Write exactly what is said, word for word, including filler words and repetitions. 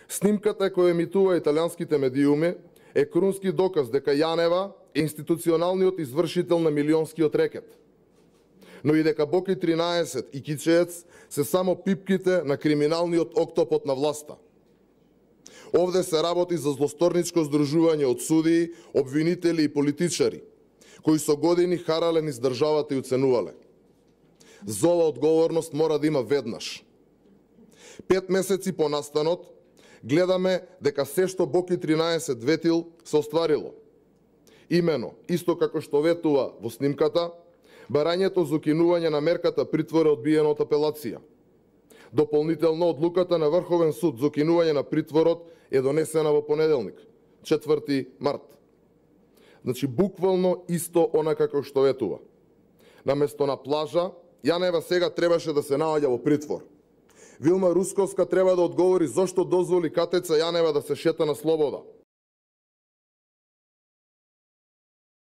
Снимката која емитува италијанските медиуми е крунски доказ дека Јанева е институционалниот извршител на милионскиот рекет, но и дека Боки тринаесет и Кичеец се само пипките на криминалниот октопот на власта. Овде се работи за злосторничко здружување од судии, обвинители и политичари, кои со години харале низ државата и уценувале. За ова одговорност мора да има веднаш. Пет месеци по настанот, гледаме дека се што Боки тринаесет ветил се остварило. Имено, исто како што ветува во снимката, барањето за укинување на мерката притвор е одбиено од апелација. Дополнително, одлуката на Врховен суд за укинување на притворот е донесена во понеделник, четврти март. Значи, буквално исто она како што ветува. Наместо на плажа, Јанева сега требаше да се наоѓа во притвор. Вилма Русковска треба да одговори зошто дозволи Катеца Јанева да се шета на слобода.